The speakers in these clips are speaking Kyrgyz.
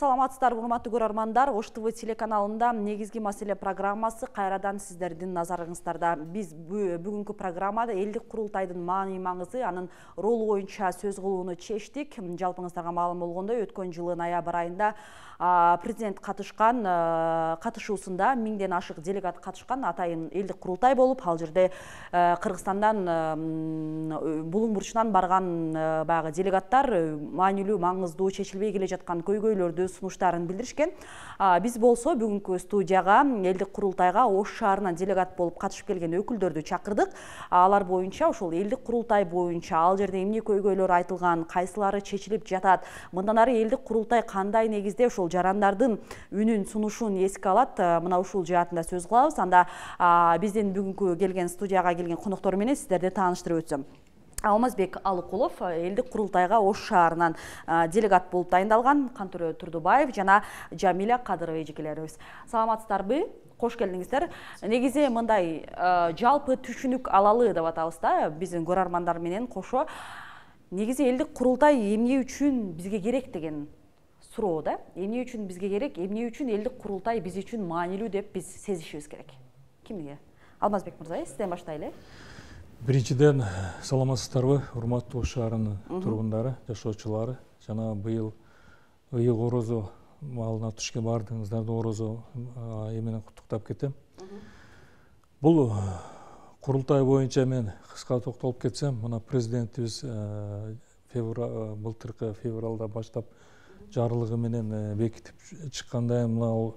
Саламатсыздарбы, урматтуу көрөрмандар. Ош ТВ телеканалында негизги маселе программасы кайрадан сиздердин назарыңыздарда. Биз бүгүнкү программада элдик курултайдын маани маңызы, анын ролу боюнча сөз кылууну чечтик. Жалпыңыздарга маалым болгондой, өткөн жылы ноябрь айында президент катышуусунда 1000ден ашык делегат катышкан атайын элдик курултай болуп, ал жерде Кыргызстандан булуң бурчунан барган баягы делегаттар маанилүү, маңыздуу, чечилбей келе жаткан көйгөйлөрдү, сунуштарын билдиришкен. Биз болсо бүгүнкү студияга элдик курултайга Ош шаарынан делегат болуп катышып келген өкүлдөрдү чакырдык. Алар боюнча, ошол элдик курултай боюнча ал жерде эмне көйгөйлөр айтылган, кайсылары чечилип жатат, мындан ары элдик курултай кандай негизде ошол жарандардын үнүн, сунушун эске алат, мына ушул жаатында сөз кылабыз. Анда биздин бүгүнкү келген студияга келген коноктор менен сиздерди тааныштырып өтсөм. Алмазбек Алыкулов элдик курултайга Ош шаарынан делегат болуп дайындалган, Кантөрө Турдубаев жана Жамиля Кадырова эжекелерибиз. Саламатсыздарбы? Кош келдиңиздер. Негизи мындай жалпы түшүнүк алалы деп атабыз да, биздин көрөрмандар менен кошо. Негизи элдик курултай эмне үчүн бизге керек деген суроо да. Эмне үчүн бизге керек, эмне үчүн элдик курултай биз үчүн маанилүү деп биз сезишибиз керек. Кимге? Алмазбек мырза, сизден баштайлы. Биринчиден, саламатсыздарбы, урматтуу Ош шаарынын тургундары, жашоочулары. Жана быйыл ыйык орозо маалына түшкөн баардыгыңыздарды орозо менен куттуктап кетем. Бул курултай боюнча мен кыска токтолуп кетсем, мына президентибиз былтыркы февралда баштап жарлыгы менен бекитип чыккандай, мына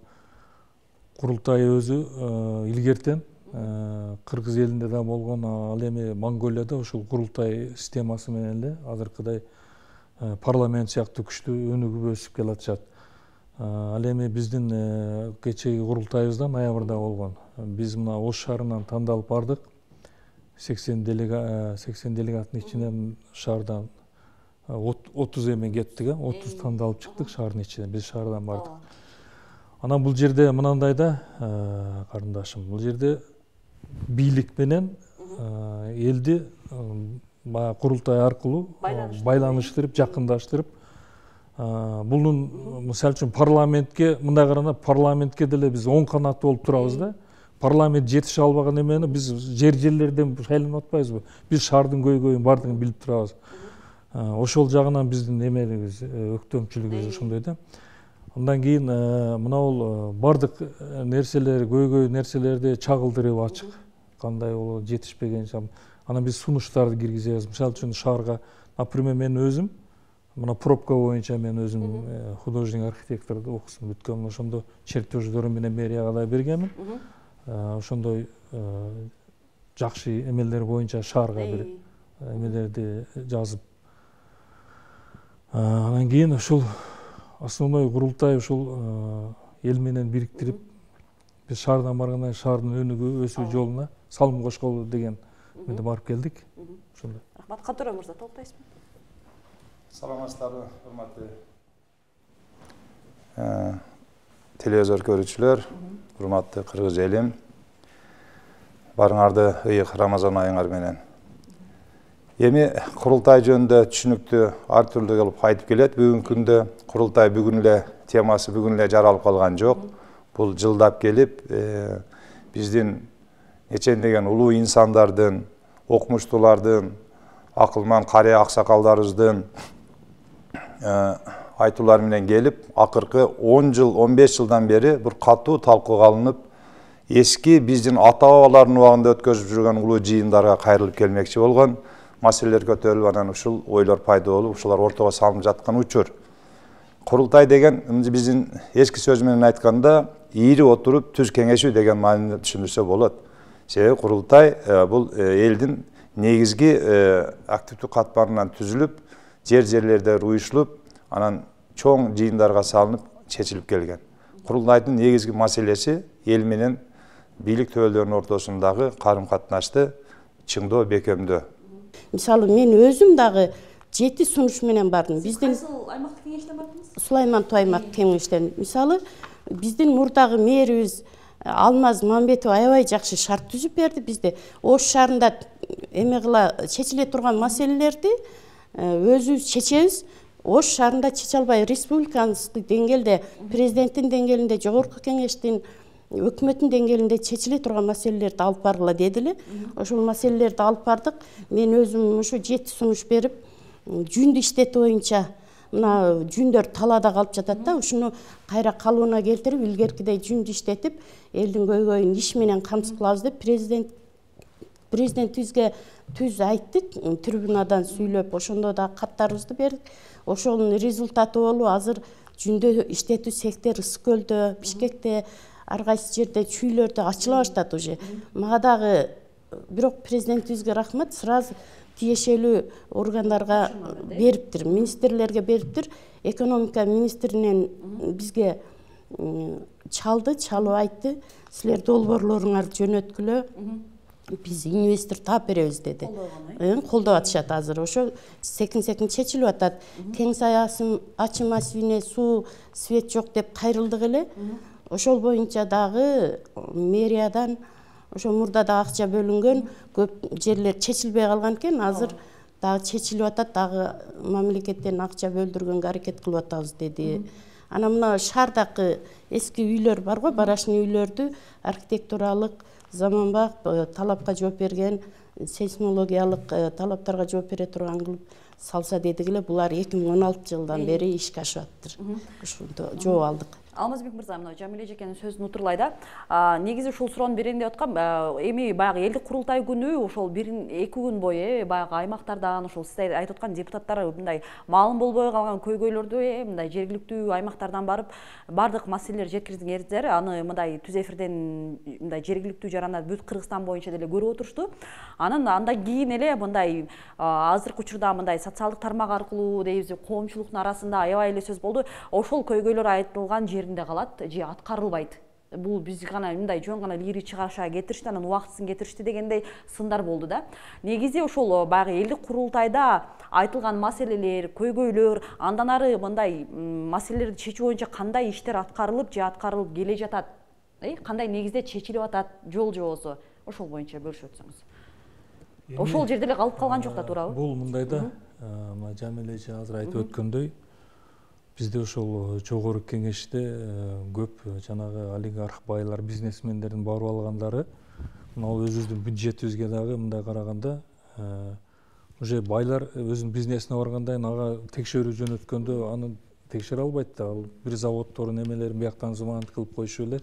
курултай өзү илгертен Кыргыз элинде да болгон, ал эми Монголияда ушул курултай системасы менен эле азыркыдай парламент сыяктуу күчтүү өнүгүп өсүп келатышат. Ал эми биздин кечеги курултайыбызда ноябрда болгон. Биз мына Ош шаарынан тандалып бардык. 80 делегаттын ичинен шаардан 30 эми кеттик, 30 тандалып чыктык шаардын ичинен. Биз шаардан бардык. Анан бул жерде мынандай да, карындашым, бул жерде бийлик менен элди курултай аркылуу байланыштырып, жакындаштырып, бунун мисалы үчүн парламентке, мындай караганда парламентке деле биз оң канат болуп турабыз да. Парламент жетише албаган эмени биз жерлерден шайланып атпайбызбы? Биз шаардын көйгөйүн бардыгын билип турабыз. Ошол жагынан биздин эмелигибиз, өктөмчүлүгүбүз ошондой да. Андан кийин мына бардык нерселер, көйгөй нерселерди чагылдырып ачык. Кандай болот, жетишпеген жам. Анан биз сунуштарды киргизебиз. Мисалы үчүн шаарга, например, мен өзүм мына пробка боюнча мен өзүм художник архитекторду окуусун бүткөм. Ошондо чертеждөрү менен мэрияга да бергенмин. Ошондой жакшы эмелер боюнча шаарга бир эмелерди жазып. Анан кийин ушул основной курултай ушул эл менен бириктирип, биз шаардан баргандан шаардын өнүгүү, өсүү жолуна салым кошколу деген менде барып келдик. Ошондой. Рахмат. Кантөрө мырза, толуктайсызбы? Саламатсыздарбы, урматтуу телевизор көрүүчүлөр, урматтуу кыргыз элим. Барыңарды ыйык Рамазан айыңар менен. Эми курултай жөнүндө түшүнүктүү ар түрдүү кылып айтып келет. Бүгүнкү күндө курултай бүгүн эле темасы бүгүн эле жаралып калган жок. Бул жылдап келип, биздин нечендеген улуу инсандардын, окумуштуулардын, акылман карыя аксакалдарыбыздын айтуулары менен келип, акыркы 10 жыл, 15 жылдан бери бир катуу талкууга алынып, эски биздин ата-бабалардын убагында өткөзүп жүргөн улуу жыйындарга кайрылып келмекчи болгон. Маселелер көтөрүлүп, анан ушул ойлор пайда болуп, ушулар ортого салынып жаткан учур. Курултай деген биздин эски сөз менен айтканда, ийри отуруп түз кеңешүү деген мааниде түшүндүрсө болот. Себеби курултай бул элдин негизги активдүү катмарынан түзүлүп, жерлерде уюшулуп, анан чоң жыйындарга салынып, чечилип келген. Курултайдын негизги маселеси эл менен бийлик төбөлдөрүнүн ортосундагы карым-катнашты чыңдоо, бекемдөө. Мисалы, мен өзүм дагы 7 сунуш менен бардым. Биздин аймактык кеңештен бардыңыз? Сулайман аймак кеңештен. Мисалы, биздин мурдагы мэрибиз Алмаз Мамбетов аябай жакшы шарт түзүп берди бизде. Ош шаарында эме кыла чечиле турган маселелерди өзүбүз чечебиз. Ош шаарында чече албай республикалык деңгээлде, президенттин деңгээлинде, жогорку кеңештин, өкмөттүн деңгээлинде чечиле турган маселелерди алып баргыла деди эле. Ошол маселелерди алып бардык. Мен өзүм ушу 7 сунуш берип, жүндү иштетүү боюнча мына жүндөр талаада калып жатат да, ушуну кайра калыбына келтирип, илгеркидей жүндү иштетип, элдин көйгөйүн иш менен камсыз кылабыз деп президентибизге түз айттык, трибунадан сүйлөп, ошондо да каттарыбызды бердик. Ошонун результаты болуп, азыр жүндө иштетүү сектор Ысык көлдө, Бишкекте, ар кайсы жерде чүйлөрдө ачыла баштады уже. Мага дагы бирок президентибизге рахмат, сразу тиешелүү органдарга бериптир, министрлерге бериптир. Экономика министринен бизге чалып айтты, силер долбоорлоруңарды жөнөткүлө, биз инвестор таап беребиз деди. Колдоп атышат азыр. Ошо секин чечилип атат. Тең ачы массивине суу, свет жок деп кайрылдык эле. Ошол боюнча дагы мэриядан ошо мурда да акча бөлүнгөн, көп жерлер чечилбей калган экен, азыр дагы чечилип атат, дагы мамлекеттен акча бөлдүргөнгө аракет кылып атабыз деди. Анан мына шаардагы эски үйлөр бар го, барашный үйлөрдү архитектуралык, заманбап талапка жооп берген, сейсмологиялык талаптарга жооп бере турган кылып салса дедик эле. Булар 2016 жылдан бери ишке ашып аттыр. Ошондо жооп алдык. Алмазбек мырза, мына Жамиле эжекенин сөзүн утурлай да. Негизи ушул суроону берейин деп аткам. Эми баягы элдик курултай күнү ошол 1-2 күн бою баягы аймактардан ошол сиз айтып аткан депутаттар мындай маалым болбой калган көйгөйлөрдү мындай жергиликтүү аймактардан барып бардык маселелер жеткирдиңер. Аны мындай түз эфирден мындай жергиликтүү жарандар бүт Кыргызстан боюнча деле көрүп отурушту. Анан андан кийин эле мындай азыркы учурда мындай социалдык тармак аркылуу дейбиз, коомчулуктун арасында аябай эле сөз болду. Ошол көйгөйлөр айтылган жеринде калат же аткарылбайт. Бул биз гана мындай жөн гана лири чыгаша кетиришти, анан убактысын кетиришти дегендей сындар болду да. Негизи ошол баягы элдик курултайда айтылган маселелер, көйгөйлөр, андан ары мындай маселелерди чечүү боюнча кандай иштер аткарылып же аткарылып келе жатат? Кандай негизде чечилип атат жол жобосу? Ошол боюнча бөлүшүп өтсөңүз. Ошол жерде эле калып калган жок да, туурабы? Бул мындай да, Жамиле эже азыр айтып өткөндөй, бизде ошол жогорку кеңеште көп жанагы олигарх байлар, бизнесмендердин барып алгандары, мына өзүбүздүн бюджетибизге дагы мындай караганда, уже байлар өзүнүн бизнесине барганда ага текшерүү жөнөткөндө аны текшере албайт да. Ал бир заводдордун эмелерин бияктан зыманат кылып коюшу эле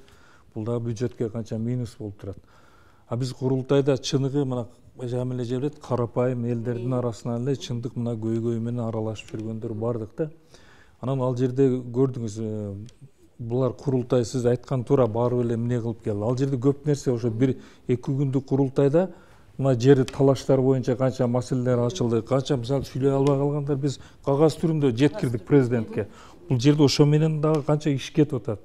бул дагы бюджетке канча минус болуп турат. А биз курултайда чыныгы мына Жамиле эже билет, карапайым элдердин арасынан эле чындык мына көйгөй менен аралашып жүргөндөр бардык да. Анан ал жерде көрдүңүз, булар курултай сиз айткан туура барып эле эмне кылып келди. Ал жерде көп нерсе ошо 1-2 күндүк курултайда мына жер талаштар боюнча канча маселелер ачылды, канча мисалы сүйлөй албай калгандар биз кагаз түрүндө жеткирдик президентке. Бул жерде ошо менен дагы канча иш кетип атат.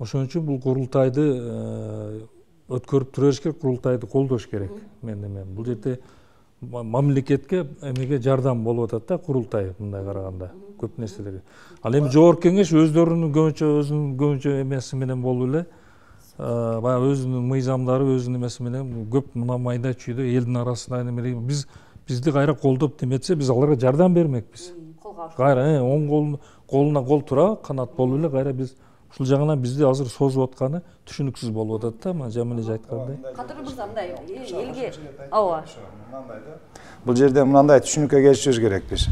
Ошон үчүн бул курултайды өткөрүп туруш керек, курултайды колдош керек. Бул жерде мамлекетке эмеге жардам болуп атат да курултай мындай караганда көп нерселерге. Ал эми жогорку кеңеш өзүнүн көбүнчө эмеси менен болуп эле, баягы өзүнүн мыйзамдары, өзүнүн эмеси менен көп мына майда чүйдө элдин арасында бизди кайра колдоп неметсе, биз аларга жардам бермекпиз. Кайра оң колуна кол тура, канат болуп эле кайра биз ушул жагынан бизди азыр созуп атканы түшүнүксүз болуп атат да, Жамиле эже айткандай. Кадырлуу мырза, мындай элге ооба. Бул жерде мындай түшүнүккө келишибиз керек биз.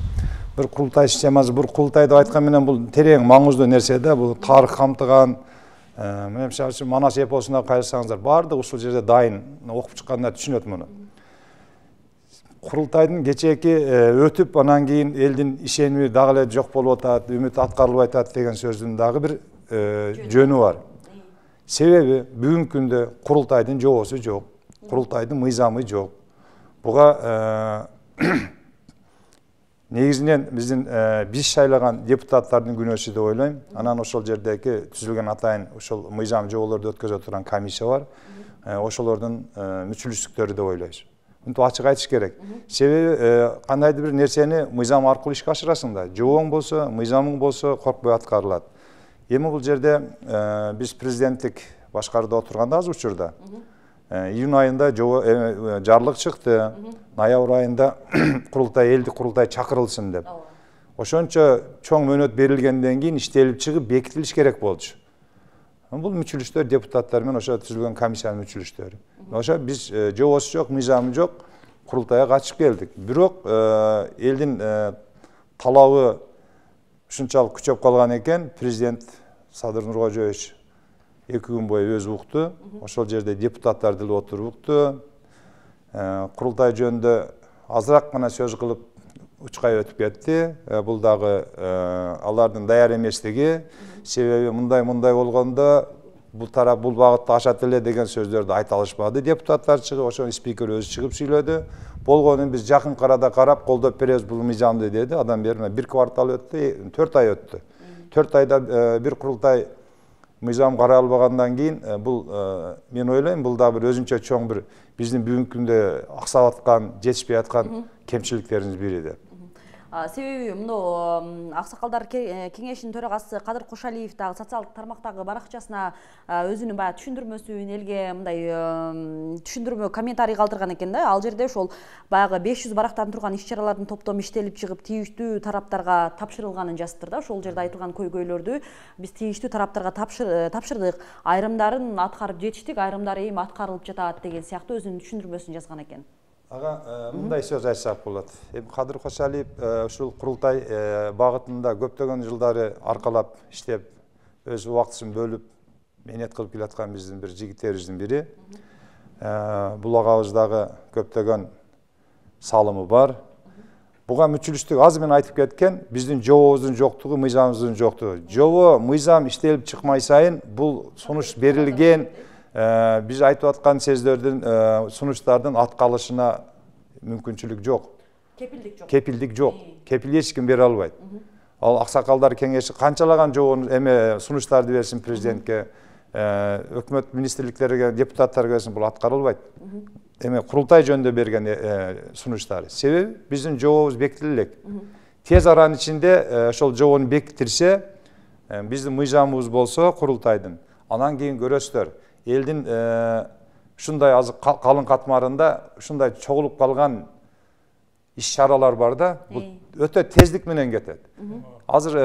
Бир курултай системасы, бир курултай деп айткан менен бул терең маңыздуу нерсе да, бул тарых камтыган. Мен мисалы үчүн Манас эпосуна карасаңыздар, баардык ушул жерде дайын, окуп чыккандар түшүнөт муну. Курултайдын кечээки өтүп, анан кийин элдин ишеними дагы эле жок болуп атат, үмүт аткарылбай атат деген сөздүн дагы бир жөнү бар. Себеби бүгүнкү күндө курултайдын жобосу жок, курултайдын мыйзамы жок. Буга негизинен биз шайлаган депутаттардын күнөөсү деп ойлойм. Анан ошол жердеги түзүлгөн атайын ошол мыйзам жоболорду өткөзө турган комиссия бар. Ошолордун мүчүлүштүктөрү деп ойлойбуз. Мынтип ачык айтыш керек. Себеби кандайдыр бир нерсени мыйзам аркылуу ишке ашырасың да. Жобоң болсо, мыйзамың болсо коркпой аткарылат. Эми бул жерде биз президенттик башкарууда отурганда азыр учурда июнь айында жарлык чыкты, ноябрь айында курултай, элдик курултай чакырылсын деп. ошончо чоң мөөнөт берилгенден кийин иштелип чыгып бекитилиш керек болчу. Бул мүчүлүштөр депутаттар менен ошо түзүлгөн комиссиянын мүчүлүштөрү. Ошо биз жобосу жок, мыйзамы жок курултайга катышып келдик. Бирок элдин талабы ушунчалык күчөп калган экен, президент Садыр Нуркожоевич 2 күн бою өзү укту. Ошол жерде депутаттар деле отуруп укту. Курултай жөнүндө азыраак гана сөз кылып учкай өтүп кетти. Бул дагы алардын даяр эместиги, себеби мындай болгондо бул тарап бул багытта ашат эле деген сөздөрдү айта алышпады. Депутаттар чыгып, ошо спикер өзү чыгып сүйлөдү. Болгонун биз жакын арада карап колдоп беребиз бул мыйзамды деди. Адан бери 1 квартал өттү, 4 ай өттү. 4 айда бир курултай мыйзам каралбагандан кийин бул мен ойлойм бул да бир өзүнчө чоң бир биздин бүгүнкү күндө аксап аткан, жетишпей аткан кемчиликтерибиздин бири деп. Себеби мына Аксакалдар кеңешинин төрагасы Кадыр Кошалиев дагы социалдык тармактагы баракчасына өзүнүн баягы түшүндүрмөсүн элге мындай түшүндүрмө комментарий калтырган экен да. Ал жерде ошол баягы 500 барактан турган иш-чаралардын топтому иштелип чыгып тийиштүү тараптарга тапшырылганын жазыптыр да. Ошол жерде айтылган көйгөйлөрдү биз тийиштүү тараптарга тапшырдык. Айрымдарын аткарып жетиштик, айрымдары эми аткарылып жатат деген сыяктуу өзүнүн түшүндүрмөсүн жазган экен. Ага, мындай сөз айтсак болот. Кадыр Кошалиев ушул курултай багытында көптөгөн жылдары аркалап иштеп, өз убактысын бөлүп, мээнет кылып келаткан биздин бир жигиттерибиздин бири. Бул агабыз дагы көптөгөн салымы бар. Буга мүчүлүштүк азыр мен айтып кеткен биздин жобобуздун жоктугу, мыйзамыбыздын жоктугу. Жобо, мыйзам иштелип чыкмай сайын бул сунуш берилген биз айтып аткан сөздөрдүн, сунуштардын аткарылышына мүмкүнчүлүк жок. Кепилдик жок. Кепил эч ким бере албайт. Ал Аксакалдар кеңеши канчалаган жобонун сунуштарды берсин президентке, өкмөт министрликтерге, депутаттарга берсин, бул аткарылбайт. Курултай жөнүндө берген сунуштары. Себеби биздин жобобуз бекитиле элек. Тез аранын ичинде ошол жобону бекитирсе, биздин мыйзамыбыз болсо курултайдын, анан кийин көрөсүздөр. Элдин ушундай азыр калың катмарында ушундай чогулуп калган иш-чаралар бар да, бул өтө тездик менен кетет. Азыр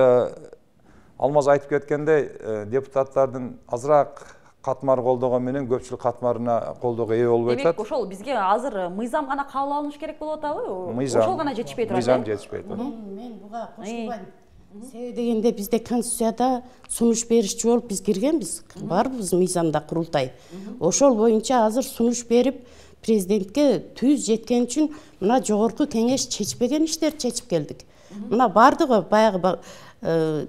Алмаз айтып кеткендей, депутаттардын азыраак катмар колдогон менен көпчүлүк катмарына колдоого ээ болбой атат. Демек, ошол бизге азыр мыйзам гана кабыл алыныш керек болуп атабы? Ошол гана жетишпей турат. Мыйзам жетишпей турат. Мен буга кошулбайм. Себеби дегенде бизде конституцияда сунуш беришчи болуп биз киргенбиз. Барбыз мыйзамда курултай. Ошол боюнча азыр сунуш берип президентке түз жеткен үчүн мына жогорку кеңеш чечпеген иштерди чечип келдик. Мына бардыгы баягы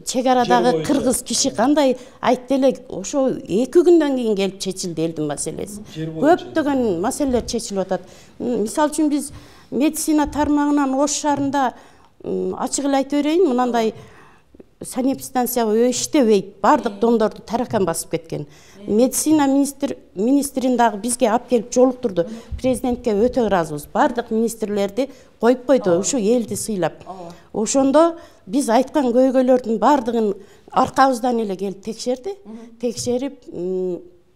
чек арадагы кыргыз киши кандай айтты эле, ошо 2 күндөн кийин келип чечилди элдин маселеси. Көптөгөн маселелер чечилип атат. Мисалы үчүн биз медицина тармагынан Ош шаарында ачык эле айтып берейин, мынандай санэпидстанция иштебейт, бардык домдорду таракан басып кеткен. Медицина министрин дагы бизге алып келип жолуктурду. Президентке өтө ыраазыбыз. Бардык министрлерди коюп койду, ушу элди сыйлап. Ошондо биз айткан көйгөйлөрдүн бардыгын аркабыздан эле келип текшерди. Текшерип,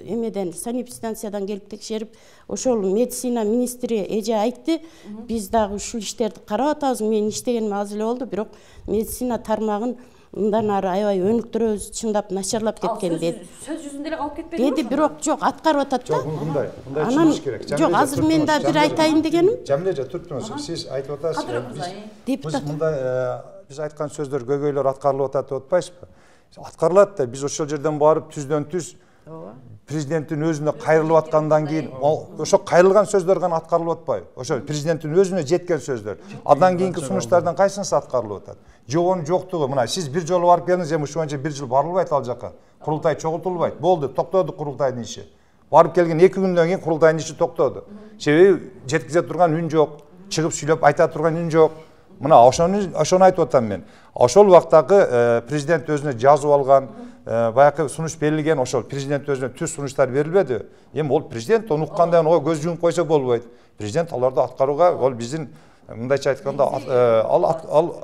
эмеден санэпидстанциядан келип текшерип, ошол медицина министри эже айтты, биз дагы ушул иштерди карап атабыз. Мен иштегеним аз эле болду, бирок медицина тармагын мындан ары аябай өнүктүрөбүз, чындап начарлап кеткен деди. Сөз жүзүндө эле калып кетпеди? Деди, бирок жок, аткарып атат да. Жок, мындай чыгыш керек. Жок, азыр мен да бир айтайын дегеним. Жамилежа, туруңуз. Сиз айтып атасыз. Депутат. Мындай биз айткан сөздөр, көйгөйлөр аткарылып атат деп атпайсызбы? Аткарылат да, биз ошол жерден барып түздөн түз президенттин өзүнө кайрылып аткандан кийин ошо кайрылган сөздөр гана аткарылып атпайбы? Ошо президенттин өзүнө жеткен сөздөр. Андан кийинки сунуштардан кайсынысы аткарылып атат? Жобонун жоктугу, мына сиз бир жолу барып келдиңиз, эми ушул боюнча бир жыл барылбайт ал жака. Курултай чогултулбайт. Болду, токтоду курултайдын иши. Барып келген 2 күндөн кийин курултайдын иши токтоду. Себеби жеткизе турган үн жок, чыгып сүйлөп айта турган үн жок. Мына ошону айтып атам мен. Ошол убактагы президент өзүнө жазып алган, баягы сунуш берилген, ошол президент өзүнө түз сунуштар берилбеди. Эми ол президент, ону уккандан ого көз жумуп койсо болбойт. Президент аларды аткарууга, ол биздин мындайча айтканда ал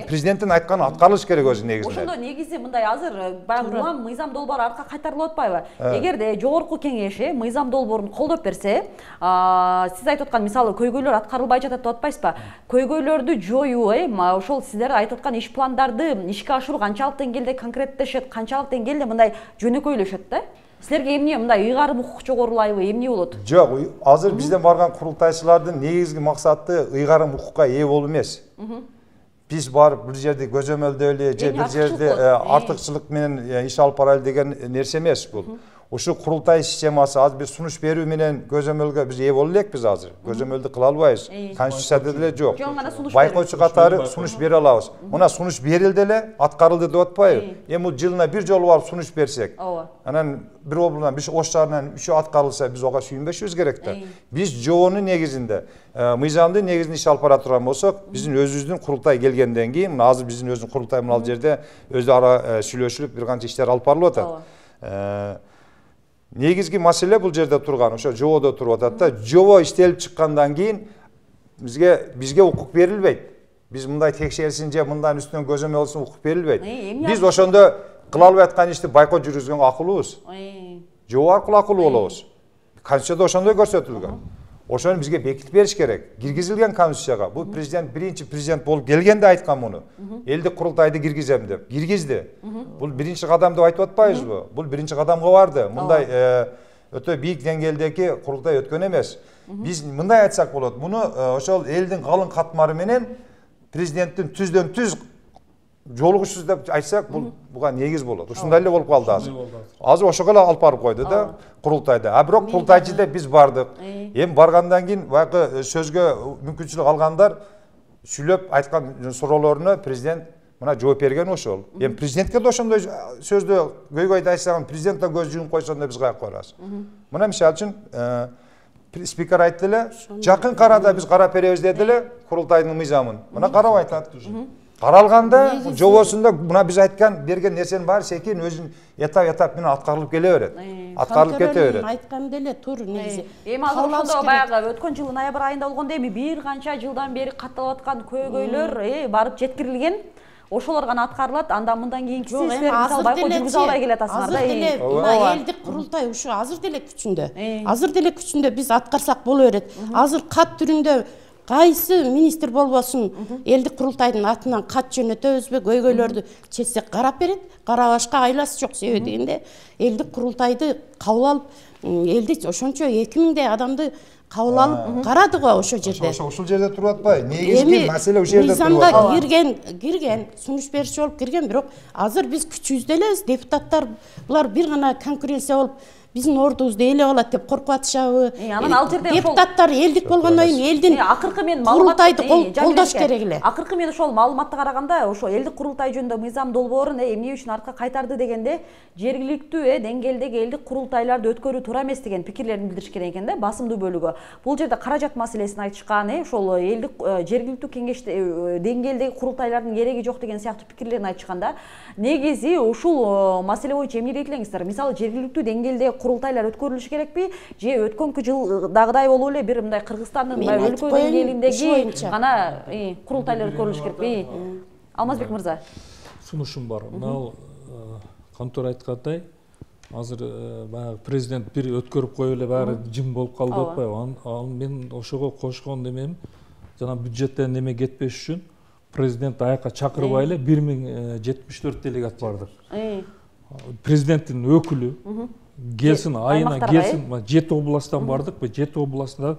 президенттин айтканы аткарылыш керек өзү негизинде. Ошондо негизи мындай азыр баягы улам мыйзам долбоор аркка кайтарылып атпайбы? Эгерде жогорку кеңеш мыйзам долбоорун колдоп берсе, сиз айтып аткан мисалы көйгөйлөр аткарылбай жатат деп атпайсызбы? Көйгөйлөрдү жоюу, ошол сиздер айтып аткан иш пландарды ишке ашыруу канчалык деңгээлде конкреттешет, канчалык деңгээлде мындай жөнөкөйлөшөт да? Силерге эмне мындай ыйгарым укук жогорулайбы, эмне болот? Жок, азыр бизден барган курултайчылардын негизги максаты ыйгарым укукка ээ болуу эмес. Биз барып бир жерде көзөмөлдөөлү же бир жерде артыкчылык менен иш алып барайлы деген нерсе эмес бул. Ушу курултай системасы азыр биз сунуш берүү менен көзөмөлгө биз ээ боло элекпиз азыр. Көзөмөлдү кыла албайбыз. Конституцияда деле жок. Байкоочу катары сунуш бере алабыз. Мына сунуш берилди эле, аткарылды деп атпайбы? Эми бул жылына бир жолу барып сунуш берсек, анан бир облудан бир Ош шаарынан үшөө аткарылса, биз ага сүйүнбөшүбүз керек да. Биз жоонун негизинде, мыйзамдын негизинде иш алып бара турган болсок, биздин өзүбүздүн курултай келгенден кийин, мына азыр биздин өзүнүн курултай мына жерде өзү ара сүйлөшүлүп бир канча иштер алып барылып атат. Негизги маселе бул жерде турган, ошо жободо туруп атат да. Жобо иштелип чыккандан кийин бизге укук берилбейт. Биз мындай текшерсин же мындан үстүнөн көзөмөл алсын укук берилбейт. Биз ошондо кыла албай аткан ишти байкот жүргүзгөнгө акылыбыз. Жобо аркылуу акылуу болобуз. Конституцияда ошондой көрсөтүлгөн. Ошону бизге бекитип бериш керек. Киргизилген Конституцияга. Бул президент биринчи президент болуп келгенде айткан муну. Элдик курултайды киргизем деп. Киргизди. Бул биринчи кадам деп айтып атпайбызбы? Бул биринчи кадамга барды. Мындай өтө бийик деңгээлдеги курултай өткөн эмес. Биз мындай айтсак болот. Муну ошол элдин калың катмары менен президенттин түздөн түз жолугушсуз деп айтсак, буга негиз болот. Ушундай эле болуп калды азыр. Азыр ошого эле алып барып койду да курултайда. А бирок курултайчы деп биз бардык. Эми баргандан кийин баягы сөзгө мүмкүнчүлүк алгандар сүйлөп айткан суроолоруна президент мына жооп берген ошол. Эми президентке да ошондой сөздө көйгөйдү айтсаган президент да көз жумуп койсондо биз каяка барабыз. Мына мисалы үчүн спикер айтты эле, жакын карада биз карап беребиз деди эле курултайдын мыйзамын. Мына карап айтат. Каралганда жобосунда мына биз айткан берген нерсенин баары секин өзүнүн этап менен аткарылып келе берет. Аткарылып кете берет. Айткан деле тур негизи. Эми азыр ошондо баягы өткөн жылы ноябрь айында болгондо эми бир канча жылдан бери катталып аткан көйгөйлөр барып жеткирилген. Ошолор гана аткарылат. Андан мындан кийинкиси силер мисалы байкот жүргүзө албай келатасыңар да. Азыр деле элдик курултай ушу азыр деле күчүндө. Азыр деле күчүндө биз аткарсак боло берет. Азыр кат түрүндө кайсы министр болбосун элдик курултайдын атынан кат жөнөтөбүзбү, көйгөйлөрдү чечсек карап берет. Карабашка айласы жок. Себеби дегенде элдик курултайды кабыл алып, элди ошончо 2000 адамды кабыл алып карады го ошол жерде. Ошол жерде туруп атпай. Негизги маселе ошол жерде туруп атат. Мыйзамга кирген, сунуш берүүчү болуп кирген, бирок азыр биз күчүбүздө элебиз. Депутаттар булар бир гана конкуренция болуп биздин ордубузду ээлеп алат деп коркуп атышабы? Анан ал жерде депутаттар элдик болгондон кийин элдин акыркы мен курултайды колдош керек эле. Акыркы мен ошол маалыматты караганда, ошо элдик курултай жөнүндө мыйзам долбоорун эмне үчүн артка кайтарды дегенде, жергиликтүү деңгээлдеги элдик курултайларды өткөрүү туура эмес деген пикирлерин билдиришкен экен да, басымдуу бөлүгү. Бул жерде каражат маселесин айтышкан, ошол элдик жергиликтүү кеңеште деңгээлдеги курултайлардын кереги жок деген сыяктуу пикирлерин айтышканда, негизи ушул маселе боюнча эмне дейт элеңиздер? Мисалы жергиликтүү деңгээлде курултайлар өткөрүлүшү керекпи? Же өткөнкү жылдагыдай болуп эле бир мындай Кыргызстандын өлкө деңгээлиндеги гана курултайлар өткөрүлүшү керекпи? Алмазбек мырза. Сунушум бар. Мына Кантор айткандай, азыр баягы президент бир өткөрүп коюп эле баары жым болуп калды деп атпайбы? Ал мен ошого кошкон немем, жана бюджеттен неме кетпеш үчүн президент аяка чакырбай эле 1074 делегат бардык. Президенттин өкүлү келсин, айына келсин, 7 областтан бардык, 7 областында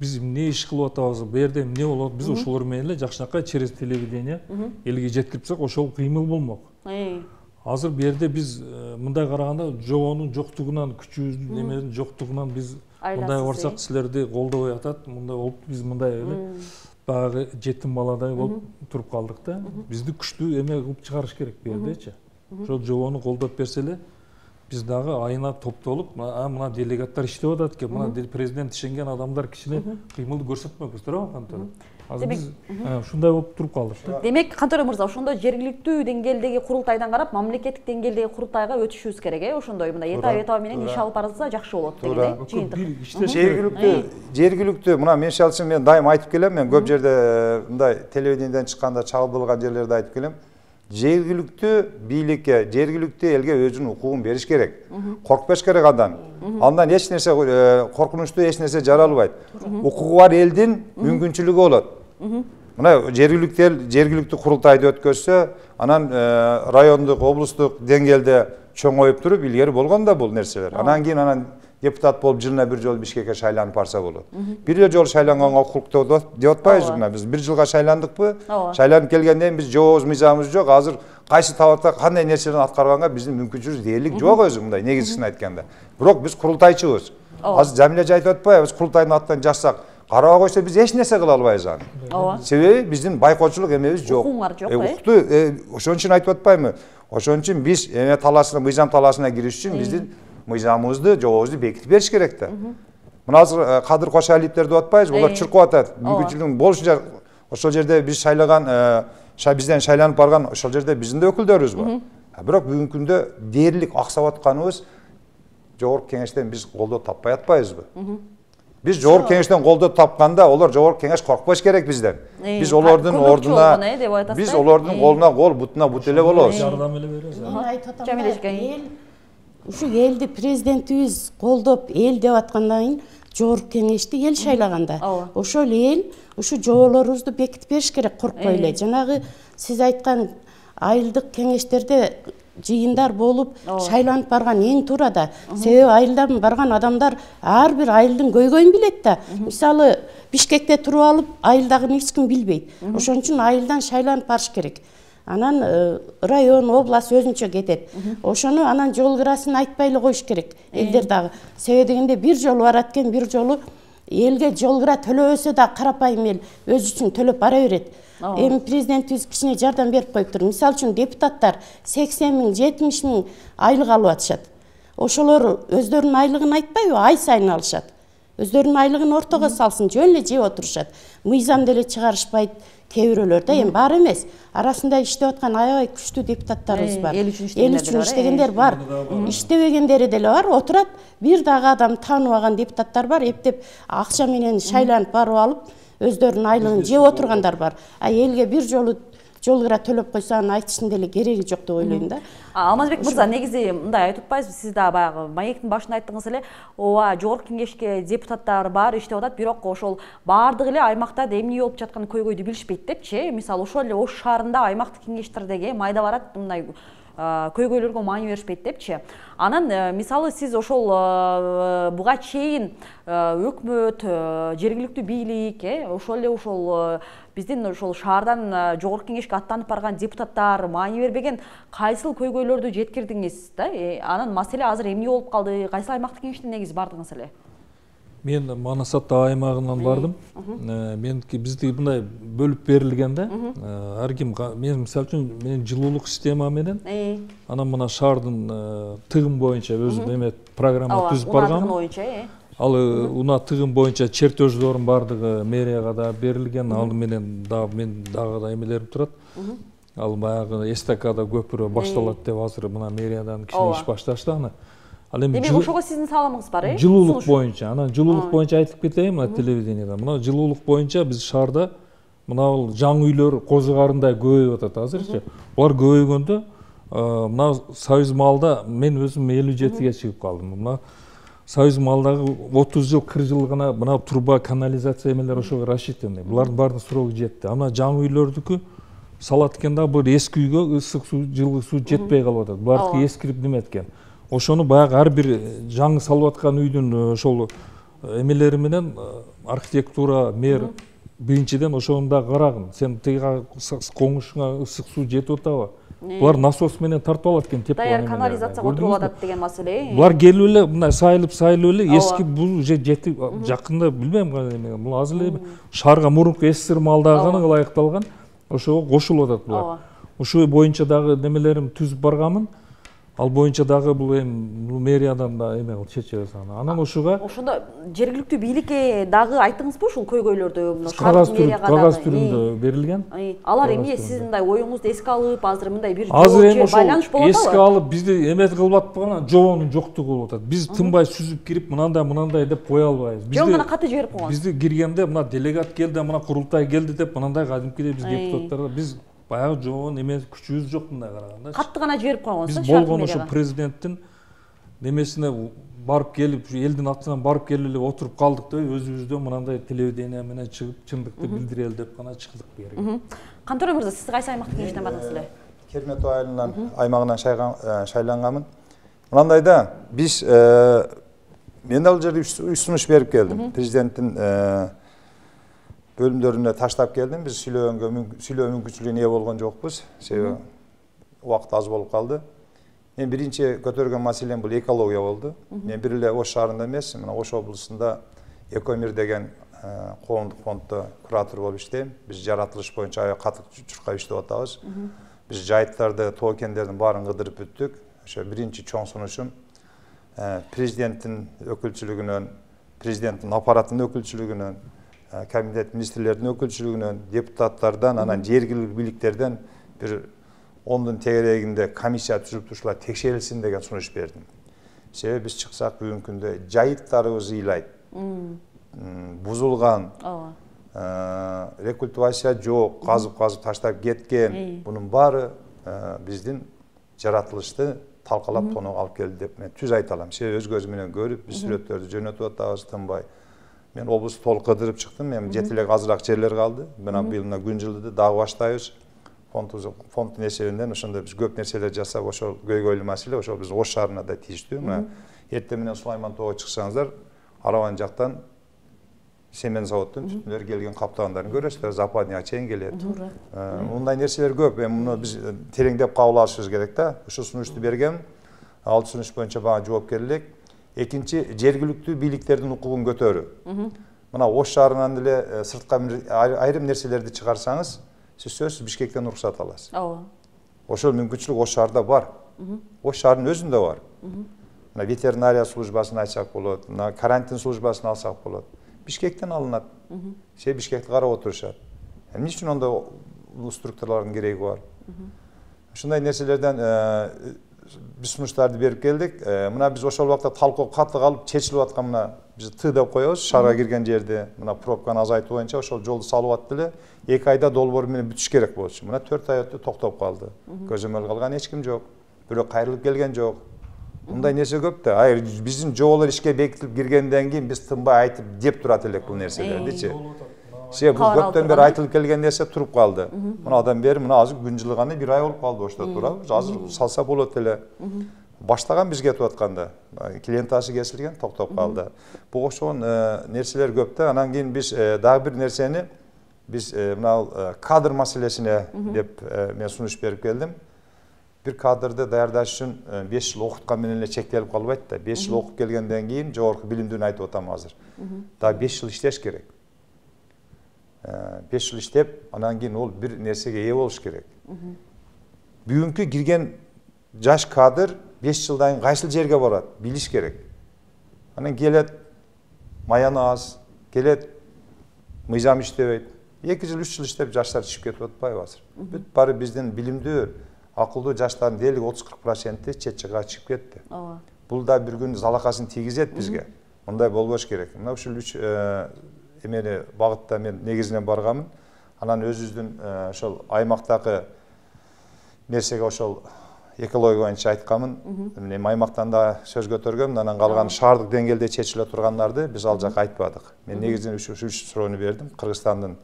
биз эмне иш кылып атабыз, бу жерде эмне болот, биз ошолор менен эле жакшынакай через телевидение элге жеткирсек, ошол кыймыл болмок. Азыр бу жерде биз мындай караганда жобонун жоктугунан, күчүбүздүн немелердин жоктугунан биз мындай барсак силерди колдобой атат, мындай болуп биз мындай эле баягы жетим баладай болуп туруп калдык да. Бизди күчтүү эме кылып чыгарыш керек бу жердечи. Ошол жобону колдоп берсе эле биз дагы айына топтолуп, мына делегаттар иштеп атат экен, мына президент ишенген адамдар кичине кыймылды көрсөтмөкпүз, туурабы Кантор? азыр биз ушундай болуп туруп калдык да. Демек, Кантөрө мырза, ошондо жергиликтүү деңгээлдеги курултайдан карап, мамлекеттик деңгээлдеги курултайга өтүшүбүз керек, ошондой мындай этап менен иш алып барылса жакшы болот деген жыйынтык. Жергиликтүү мына мен шалчы мен дайым айтып келем, мен көп жерде мындай телевидениеден чыкканда чагылдырылган жерлерде айтып келем. Жергиликтүү бийликке, жергиликтүү элге өзүнүн укугун бериш керек. Коркпош керек андан. Андан эч нерсе коркунучтуу эч нерсе жаралбайт. Укугу бар элдин мүмкүнчүлүгү болот. Мына жергиликтүү курултайды өткөзсө, анан райондук, облустук деңгээлде чоңоюп туруп илгери болгон да бул нерселер. Анан кийин депутат болуп жылына бир жолу Бишкекке шайланып барса болот. Бир эле жолу шайланганга укуктуу деп атпайбызбы? Мына биз бир жылга шайландыкпы? Шайланып келгенден кийин биз жообуз, мыйзамыбыз жок. Азыр кайсы табакта кандай нерселерди аткарганга биздин мүмкүнчүлүгүбүз дээрлик жок өзү, мындай негизгисин айтканда. Бирок биз курултайчыбыз. Азыр Жамиля айтып атпайбы? Биз курултайдын аттан жазсак, карабай койсо биз эч нерсе кыла албайбыз аны. Себеби биздин байкоочулук эмебиз жок. Укугуңар жок, Укукту ошон үчүн айтып атпаймынбы? Ошон үчүн биз эме талаасына, мыйзам талаасына кириш үчүн биздин мыйзамыбызды, жообубузду бекитип бериш керек да. Мына азыр Кадыр Кошалиевдер деп атпайбызбы? Булар чуркуп атат. Мүмкүнчүлүгүң болушунча ошол жерде биз шайлаган, бизден шайланып барган ошол жерде биздин да өкүлдөрүбүз бар. Бирок бүгүнкү күндө дээрлик аксап атканыбыз жогорку кеңештен биз колдоо таппай атпайбызбы? Биз жогорку кеңештен колдоо тапканда, олар жогорку кеңеш коркпош керек бизден. Биз олордун ордуна, биз олордун колуна кол, бутуна бут эле болобуз. Жардам эле беребиз. Жамиля эжеке. Ушу элди президентибиз колдоп, эл деп аткандан кийин жогорку кеңешти эл шайлаганда. Ошол эл ушу жоболорубузду бекитип бериш керек, коркпой эле. Жанагы сиз айткан айылдык кеңештерде жыйындар болуп, шайланып барган эң туура да. Себеби айылдан барган адамдар ар бир айылдын көйгөйүн билет да. Мисалы, Бишкекте туруп алып, айылдагын эч ким билбейт. Ошон үчүн айылдан шайланып барыш керек. Анан район, область өзүнчө кетет. Ошону анан жол кырасын айтпай эле коюш керек элдер дагы. Себеби дегенде бир жолу барат экен, бир жолу элге жол кыра төлөбөсө да карапайым эл өзү үчүн төлөп бара берет. Эми президентибиз кичине жардам берип коюптур. Мисалы үчүн депутаттар 80 миң, 70 миң айлык алып атышат. Ошолор өздөрүнүн айлыгын айтпайбы, ай сайын алышат. Өздөрүнүн айлыгын ортого салсын, жөн эле жеп отурушат. Мыйзам деле чыгарышпайт. Кээ бирөөлөр да, эми бар эмес. Арасында иштеп аткан аябай күчтүү депутаттарыбыз бар. Эл үчүн иштегендер бар. Иштебегендери деле бар. Отурат, бир дагы адам тааныбаган депутаттар бар. Эптеп акча менен шайланып барып алып, өздөрүнүн айлыгын жеп отургандар бар. Элге бир жолу жол кыра төлөп койсо анын айтыштын деле кереги жок деп ойлойм да. Алмазбек мырза, негизи мындай айтып атпайсызбы, сиз да баягы маектин башында айттыңыз эле, ооба, жогорку кеңешке депутаттар бар, иштеп атат, бирок ошол баардыгы эле аймакта эмне болуп жаткан көйгөйдү билишпейт депчи. Мисалы, ошол эле Ош шаарында аймактык кеңештердеги майда барат мындай көйгөйлөргө маани беришпейт депчи. Анан мисалы сиз ошол буга чейин өкмөт, жергиликтүү бийлик, ошол эле ошол биздин ошол шаардан жогорку кеңешке аттанып барган депутаттар маани бербеген кайсыл көйгөйлөрдү жеткирдиңиз да? Анан маселе азыр эмне болуп калды? Кайсыл аймактык кеңештен негизи бардыңыз эле? Мен Манас ата аймагынан бардым. Бизди мындай бөлүп берилген да. Ар ким, мен мисалы үчүн менин жылуулук система менен анан мына шаардын тыгын боюнча өзүм эме программа түзүп баргам. Ал уна тыгын боюнча чертеждордун бардыгы мэрияга да берилген. Ал менен дагы мен дагы эмелерим турат. Ал баягы эстакада көпүрө башталат деп азыр мына мэриядан кичине иш башташты аны. Демек ошого сиздин салымыңыз бар, Жылуулук боюнча. Анан жылуулук боюнча айтып кетейин мына телевидениеда. Мына жылуулук боюнча биз шаарда мына жаңы үйлөр козугарындай көбөйүп атат азырчы. Булар көбөйгөндө мына Союз Малда мен өзүм 57-ге чыгып калдым. Мына Союз Малдагы 30 жыл, 40 жыл гана мына труба, канализация эмелер ошого рассчитаны. Булардын баардыгы срогу жетти. Ана жаңы үйлөрдүкү салат экен да, бул эски үйгө ысык суу, жылы суу жетпей калып атат. Булардыкы эскирип неме эткен. Ошону баягы ар бир жаңы салып аткан үйдүн ошол эмелери менен архитектура, мэр биринчиден ошону да карагын. Сен тиги коңушуңа ысык суу жетип атабы? Булар насос менен тартып алат экен, тепкан эмелер. Даяр канализацияга отуруп атат деген маселе. Булар келип эле мындай сайылып эле эски бул уже жетип жакында билбейм кандай эме. Бул азыр эле шаарга мурунку СССР малдагы ылайыкталган. Ошого кошулуп атат булар. Ошол боюнча дагы немелерим түзүп барганмын. Ал боюнча дагы бул эми мэриядан да эме кылып чечебиз аны. Анан ошого ошондо жергиликтүү бийликке дагы айттыңызбы ушул көйгөйлөрдү? кагаз түрүндө берилген. Алар эмне сиздин мындай оюңузду эске алып, азыр мындай бир байланыш болуп атабы? Эске алып бизди эмет кылып атпаган, жообонун жоктугу болуп атат. Биз тынбай сүзүп кирип мындай деп кое албайбыз. Жөн гана каты жиберип койгон. Бизди киргенде мына делегат келди, мына курултай келди деп мындай кадимкидей биз депутаттар биз баягы жообун эмес күчүбүз жок мындай караганда. Катты гана жиберип койгонсуз. Биз болгон ошо президенттин немесине барып келип, элдин атынан барып келип эле отуруп калдык деп өзүбүздөн мындай телевидение менен чыгып чындыкты билдирели деп гана чыктык бу жерге. Кантөрө мырза, сиз кайсы аймактын кеңештен бардыңыз эле? Кермет айылынан аймагынан шайланганмын. Мындай да биз мен ал жерде сунуш берип келдим. Президенттин бөлүмдөрүнө таштап келдим. Биз сүйлөө мүмкүнчүлүгүнө ээ болгон жокпуз. Себеби убакыт аз болуп калды. Мен биринчи көтөргөн маселем бул экология болду. Мен бир эле Ош шаарында эмес, мына Ош облусунда Экомир деген коомдук фонддо куратор болуп иштейм. Биз жаратылыш боюнча аябай катык чуркап иштеп атабыз. Биз жайыттарды, тоо кендердин баарын кыдырып бүттүк. Ошо биринчи чоң сунушум президенттин өкүлчүлүгүнөн, президенттин аппаратынын өкүлчүлүгүнөн, кабинет министрлердин өкүлчүлүгүнөн, депутаттардан, анан жергиликтүү бийликтерден бир 10-дун тегерегинде комиссия түзүлүп ушулар текшерилсин деген сунуш бердим. Себеби биз чыксак бүгүнкү күндө жайыттарыбыз ыйлайт. Бузулган, рекультивация жок, казып таштап кеткен. Бунун баары биздин жаратылышты талкалап тоноо алып келди деп мен түз айта алам. Себеби өз көзүм менен көрүп, биз сүрөттөрдү жөнөтүп атабыз тынбай. Мен облусту толук кыдырып чыктым. Мен жете эле азыраак жерлер калды. Мына быйыл күн жылды дагы баштайбыз. Фонддун эсебинен ошондо биз көп нерселер жасап, ошол көйгөйлүү маселе ошол биз Ош шаарына да тийиштүү. Мына эртең менен Сулайман тоого чыксаңыздар, Арабан жактан семен заводдун түтүндөр келген каптагандарын көрөсүздөр, Западныйга чейин келет. Мындай нерселер көп. Муну биз тереңдеп кабыл алышыбыз керек да. Ушул сунушту бергем. Ал сунуш боюнча бага жоопкер элек. Экинчи, жергиликтүү бийликтердин укугун көтөрүү. Мына Ош шаарынан деле сыртка айрым нерселерди чыгарсаңыз, сиз сөзсүз Бишкектен уруксат аласыз. Ооба. Ошол мүмкүнчүлүк Ош шаарда бар. Ош шаарынын өзүндө бар. Мына ветеринария службасын айтсак болот, мына карантин службасын алсак болот. Бишкектен алынат. Себеби Бишкекти карап отурушат. Эмне үчүн ондой структуралардын кереги бар? Ушундай нерселерден биз сунуштарды берип келдик. Мына биз ошол убакта талкуу катты калып чечилип аткан мына биз Т деп коебуз, шаарга кирген жерде мына пробканы азайтуу боюнча ошол жолду салып атты эле. 2 айда долбоор менен бүтүш керек болчу. Мына 4 ай өтүп токтоп калды. Көзөмөл кылган эч ким жок. Бирөө кайрылып келген жок. Мындай нерсе көп да. Биздин жоболор ишке бекитилип киргенден кийин биз тынбай айтып деп турат элек бул нерселердичи. Себеби бул көптөн бери айтылып келген нерсе туруп калды. Мына адам бери мына азыр күн жылганы 1 ай болуп калды, ошто турабыз. Азыр салса болот эле. Баштаган биз кетип атканда, клиентасы кесилген, токтоп калды. Буга окшогон нерселер көп да. Анан кийин биз дагы бир нерсени биз мына кадр маселесине деп мен сунуш берип келдим. Бир кадрды даярдаш үчүн 5 жыл окуткан менен эле чектелип калбайт да. 5 жыл окуп келгенден кийин жогорку билимдүүнү айтып атам азыр. Дагы 5 жыл иштеш керек. 5 жыл иштеп, анан кийин ол бир нерсеге ээ болуш керек. Бүгүнкү кирген жаш кадр 5 жылдан кийин кайсыл жерге барат, билиш керек. Анан келет, маяны аз, келет, мыйзам иштебейт. 2 жыл, 3 жыл иштеп жаштар чыгып кетип атпайбы азыр? Бүт баары биздин билимдүү, акылдуу жаштардын дээрлик 30-40% чет жакка чыгып кетти. Бул да бир күн залакасын тийгизет бизге. Мындай болбош керек. Мына ушул 3 эмени багытта мен негизинен барганмын. Анан өзүбүздүн ошол аймактагы нерсеге ошол экология боюнча айтканмын. Мен аймактан да сөз көтөргөм, анан калган шаардык деңгээлде чечиле тургандарды биз ал жакка айтпадык. Мен негизинен ушул 3 суроону бердим. Кыргызстандын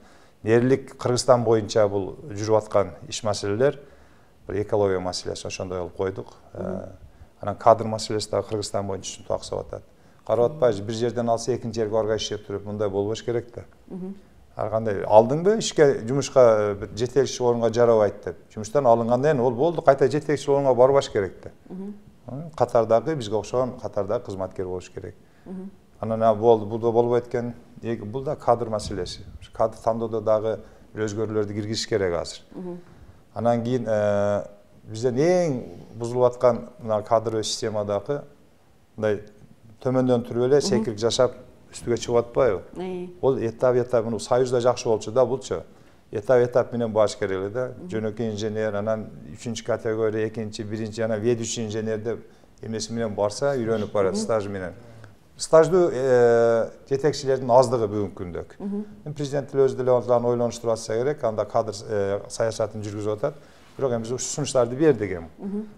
дээрлик Кыргызстан боюнча бул жүрүп аткан иш маселелер, экология маселеси ошондой кылып койдук. Анан кадр маселеси да Кыргызстан боюнча ушинтип аксап атат. Карап атпайбыз, бир жерден алса экинчи жерге барбай иштеп туруп, мындай болбош керек да. Ар кандай алдыңбы ишке, жумушка бир жетекчи орунга жарабайт деп. Жумуштан алынгандан кийин ол болду, кайта жетекчи орунга барбаш керек да. Катардагы бизге окшогон катардагы кызматкер болуш керек. Анан болду, бул да болбойт экен. Бул да кадр маселеси. Кадр тандоодо дагы бир өзгөрүүлөрдү киргизиш керек азыр. Анан кийин бизден эң бузулуп аткан мына кадровый системадагы мындай төмөндөн туруп эле секирип жашап үстүгө чыгып атпайбы? Бул этап муну Союзда жакшы болчу да, булчу. Этап менен баш керек эле да. Жөнөкөй инженер, анан 3 категория, 2, 1, анан ведущий инженер деп эмеси менен барса, үйрөнүп барат стаж менен. Стаждуу жетекчилердин аздыгы бүгүнкү күндө. Президент өзү деле ойлонуштуруп атса керек, анда кадр саясатын жүргүзүп атат. Бирок эми биз сунуштарды бердик эми.